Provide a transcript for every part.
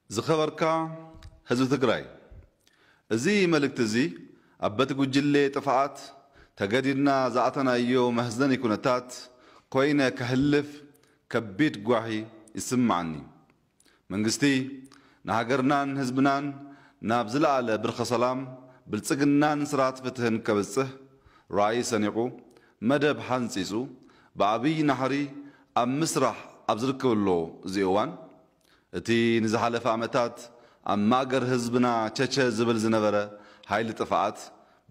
ዝኸበርካ ህዝቢ ትግራይ፣ እዚ መልእክቲ እዚ ኣብ በቲ ጉጅሌ ጥፍኣት ተገዲድና ዝኣተናዮ መሕዘኒ ኩነታት ኮይነ ከሕልፍ ከቢድ ጓሂ ይስምዓኒ። መንግስቲ ንሃገርናን ህዝብናን ናብ ዝለዓለ ብርኸ ሰላም፣ ብልጽግናን ስርዓት ፍትህን ከብጽሕ ራእይ ሰኒቑ፣ መደብ ሓንጺጹ፣ ብዓብይ ናሕሪ ኣብ ምስራሕ ኣብ ዝርከበሉ እዚ እዋን፣ እቲ ንዝሓለፈ ዓመታት ኣብ ማእገር ህዝብና ቸቸ ዝብል ዝነበረ ሓይሊ ጥፍኣት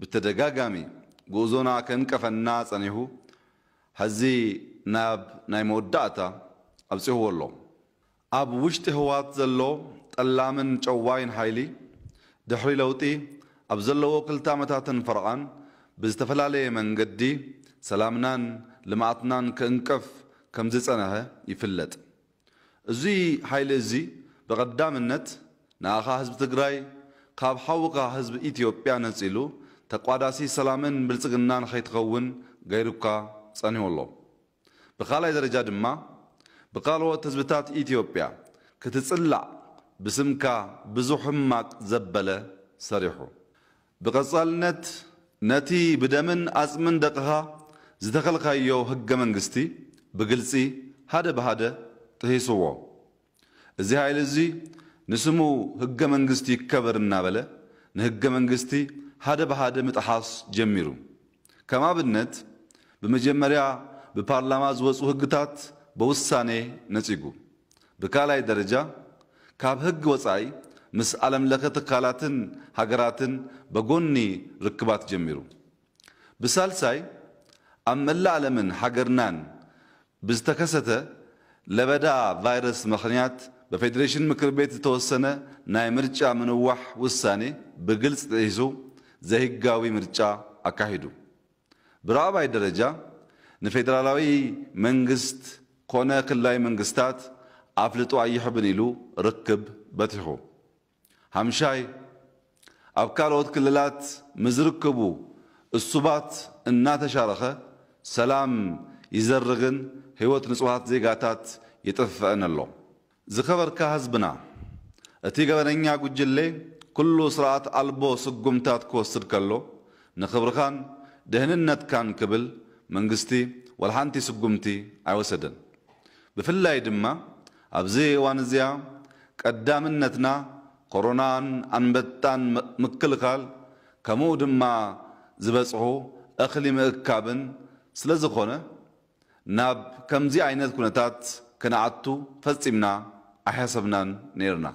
ብተደጋጋሚ ጉዕዞና ከንቀፈና ጸኒሑ፣ ሕዚ ናብ ናይ መወዳእታ ኣብጺሕዎ ኣሎ። ኣብ ውሽጢ ህወሓት ዘሎ ጠላምን ጨዋይን ሓይሊ፣ ድሕሪ ለውጢ ኣብ ዘለዎ ክልተ ዓመታትን ፈረቓን ብዝተፈላለየ መንገዲ ሰላምናን ልምዓትናን ክእንቅፍ ከም ዝጸንሐ ይፍለጥ። እዚ ሓይሊ እዚ ብቐዳምነት ንኣኻ ህዝቢ ትግራይ ካብ ሓውኻ ህዝቢ ኢትዮጵያ ነጺሉ ተቋዳሲ ሰላምን ብልጽግናን ኸይትኸውን ገይሩካ ጸኒሑ ኣሎ። ብኻልኣይ ደረጃ ድማ ብካልኦት ህዝብታት ኢትዮጵያ ክትጽላእ ብስምካ ብዙሕ ሕማቕ ዘበለ ሰሪሑ። ብቐጻልነት ነቲ ብደምን ኣጽምን ደቕኻ ዝተኸልካዮ ህገ መንግስቲ ብግልጺ ሓደ ብሃደ ጥሂስዎ። እዚ ሓይሊ እዚ ንስሙ ህገ መንግስቲ ይከበር እናበለ ንህገ መንግስቲ ሓደ ብሃደ ምጥሓስ ጀሚሩ። ከም ኣብነት ብመጀመርያ ብፓርላማ ዝወፁ ህግታት በውሳኔ ነፂጉ። ብካልኣይ ደረጃ ካብ ህግ ወፃኢ ምስ ዓለም ለኸ ትካላትን ሃገራትን በጎኒ ርክባት ጀሚሩ። ብሳልሳይ ኣብ መላእ ዓለምን ሃገርናን ብዝተከሰተ ለበዳ ቫይረስ ምኽንያት በፌዴሬሽን ምክር ቤት ዝተወሰነ ናይ ምርጫ ምንዋሕ ውሳኔ ብግልፂ ጥሒሱ ዘይህጋዊ ምርጫ ኣካሂዱ። ብራብዓይ ደረጃ ንፌዴራላዊ መንግስት ኮነ ክልላዊ መንግስታት ኣፍልጦ ኣይሕብን ኢሉ ርክብ በቲሑ። ሓምሻይ ኣብ ካልኦት ክልላት ምዝርክቡ እሱባት እናተሻረኸ ሰላም ይዘርግን ህይወት ንጹሃት ዜጋታት ይጥፍእን ኣሎ። ዝኸበርካ ህዝብና፣ እቲ ገበነኛ ጉጅሌ ኩሉ ስርዓት ኣልቦ ስጉምታት ክወስድ ከሎ ንኽብርኻን ደህንነትካን ክብል መንግስቲ ወላ ሓንቲ ስጉምቲ ኣይወሰደን። ብፍላይ ድማ ኣብዚ እዋን እዚኣ ቀዳምነትና ኮሮናን ኣንበጣን ምክልኻል ከምኡ ድማ ዝበፅሑ እኽሊ ምእካብን ስለዝኾነ ናብ ከምዚ ዓይነት ኩነታት ክንኣቱ ፈፂምና ኣይሓሰብናን ነይርና።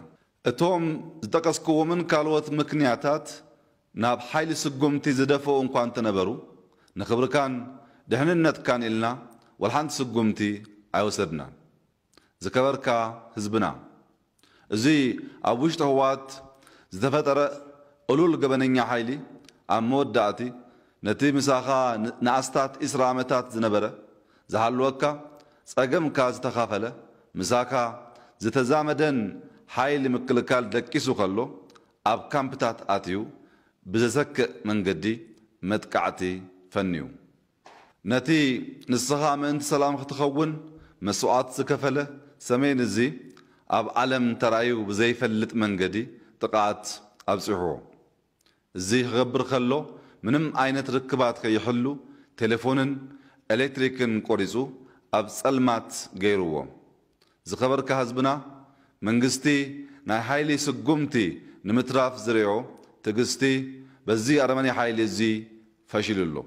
እቶም ዝጠቀስክዎምን ካልኦት ምክንያታት ናብ ሓይሊ ስጉምቲ ዝደፈኡ እንኳ እንተነበሩ ንኽብርካን ድሕንነትካን ኢልና ወልሓንቲ ስጉምቲ ኣይወሰድናን። ዝከበርካ ህዝብና፣ እዚ ኣብ ውሽጢ ህወሓት ዝተፈጠረ እሉል ገበነኛ ሓይሊ ኣብ መወዳእቲ ነቲ ምሳኻ ንኣስታት ዒስራ ዓመታት ዝነበረ ዝሃለወካ ጸገምካ ዝተኻፈለ ምሳኻ ዝተዛመደን ሓይሊ ምክልካል ደቂሱ ከሎ ኣብ ካምፕታት ኣትዩ ብዘሰክእ መንገዲ መጥቃዕቲ ፈንዩ። ነቲ ንስኻ ምእንቲ ሰላም ክትኸውን መስዋእት ዝከፈለ ሰሜን እዚ ኣብ ዓለም ተራእዩ ብዘይፈልጥ መንገዲ ጥቕዓት ኣብጺሕዎ። እዚ ክገብር ከሎ ምንም ዓይነት ርክባት ከይሕሉ ቴሌፎንን ኤሌክትሪክን ቆሪጹ ኣብ ጸልማት ገይርዎ። ዝኸበርካ ህዝብና መንግስቲ ናይ ሓይሊ ስጉምቲ ንምትራፍ ዝሪኦ ትዕግስቲ በዚ ኣረመኔ ሓይሊ እዚ ፈሺሉ ኣሎ።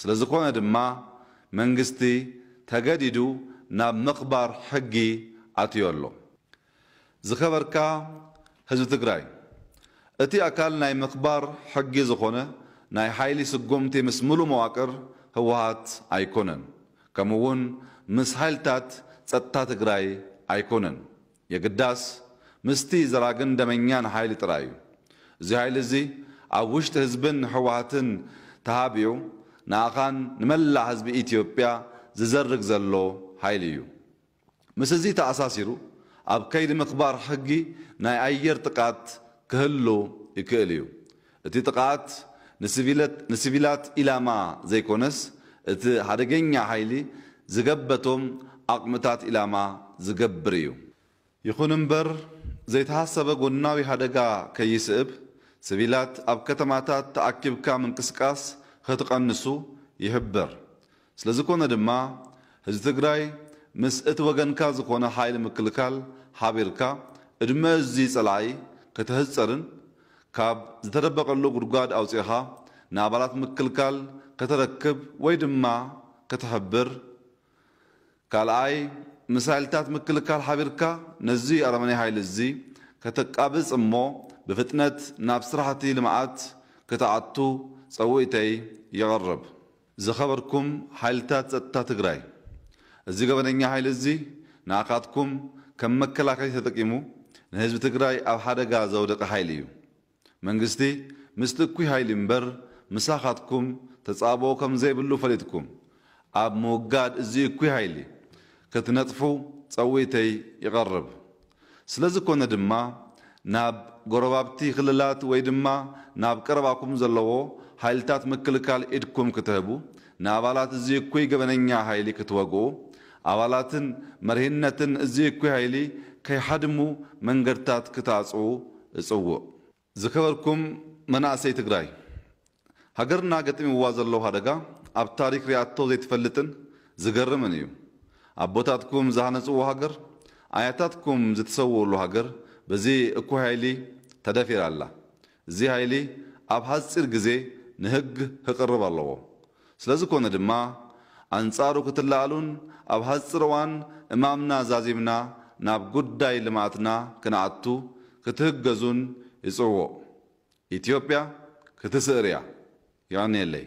ስለዝኾነ ድማ መንግስቲ ተገዲዱ ናብ ምኽባር ሕጊ ኣትዮ ኣሎ። ዝኸበርካ ህዝቢ ትግራይ፣ እቲ ኣካል ናይ ምኽባር ሕጊ ዝኾነ ናይ ሓይሊ ስጉምቲ ምስ ሙሉ መዋቅር ህወሓት ኣይኮነን፣ ከምኡ እውን ምስ ሓይልታት ፀጥታ ትግራይ ኣይኮነን። የግዳስ ምስቲ ዘራግን ደመኛን ሓይሊ ጥራይ እዩ። እዚ ሓይሊ እዚ ኣብ ውሽጢ ህዝብን ህወሓትን ተሃቢኡ ንኣኻን ንመላእ ህዝቢ ኢትዮጵያ ዝዘርግ ዘሎ ሓይሊ እዩ። ምስ እዚ ተኣሳሲሩ ኣብ ከይዲ ምኽባር ሕጊ ናይ ኣየር ጥቃት ክህሉ ይክእል እዩ። እቲ ጥቃት ንሲቪለት- ንሲቪላት ኢላማ ዘይኮነስ እቲ ሓደገኛ ሓይሊ ዝገበቶም ዓቕምታት ኢላማ ዝገብር እዩ። ይኹን እምበር ዘይተሓሰበ ጎናዊ ሓደጋ ከይስእብ፣ ስቪላት ኣብ ከተማታት ተኣኪብካ ምንቅስቃስ ኸትቐንሱ ይሕብር። ስለዝኾነ ድማ፣ ህዝቢ ትግራይ ምስ እቲ ወገንካ ዝኾነ ሓይሊ ምክልካል ሓቢርካ፣ ዕድመ እዚ ጸላኢ ከተህጸርን ካብ ዝተደበቐሉ ጉድጓድ ኣውጺእኻ ንኣባላት ምክልካል ከተረክብ ወይ ድማ ከተሕብር። ካልኣይ፣ ምስ ሓይልታት ምክልካል ሓቢርካ ነዚ ኣረመኔ ሓይሊ እዚ ከተቃብጽ እሞ ብፍጥነት ናብ ስራሕቲ ልምዓት ክትኣቱ ጸውኢተይ የቕርብ። ዝኸበርኩም ሓይልታት ጸጥታ ትግራይ፣ እዚ ገበነኛ ሓይሊ እዚ ንኣኻትኩም ከም መከላከሊ ተጠቂሙ ንህዝቢ ትግራይ ኣብ ሓደጋ ዘውደቀ ሓይሊ እዩ። መንግስቲ ምስቲ እኩይ ሓይሊ እምበር ምሳኻትኩም ተጻብኦ ከም ዘይብሉ ፈሊጥኩም ኣብ ምውጋድ እዚ እኩይ ሓይሊ ክትነጥፉ ጸውኢተይ ይቐርብ። ስለ ዝኾነ ድማ ናብ ጎረባብቲ ክልላት ወይ ድማ ናብ ቀረባኩም ዘለዎ ሓይልታት ምክልካል ኢድኩም ክትህቡ፣ ንኣባላት እዚ እኩይ ገበነኛ ሓይሊ ክትወግኡ፣ ኣባላትን መሪሕነትን እዚ እኩይ ሓይሊ ከይሓድሙ መንገድታት ክትኣጽኡ እጽውዕ። ዝኸበርኩም መናእሰይ ትግራይ፣ ሃገርና ገጢምዋ ዘሎ ሓደጋ ኣብ ታሪክ ሪኣቶ ዘይትፈልጥን ዝገርምን እዩ። ኣቦታትኩም ዝሃነፅዎ ሃገር፣ ኣያታትኩም ዝተሰውኡሉ ሃገር በዚ እኩይ ሓይሊ ተደፊራ ኣላ። እዚ ሓይሊ ኣብ ሓፂር ግዜ ንህግ ክቕርብ ኣለዎ። ስለዝኾነ ድማ ኣንጻሩ ክትለኣሉን ኣብ ሓፂር እዋን እማምና ዛዚምና ናብ ጉዳይ ልምዓትና ክንኣቱ ክትህገዙን ይጽውዕ። ኢትዮጵያ ክትስእር እያ። የቐንየለይ።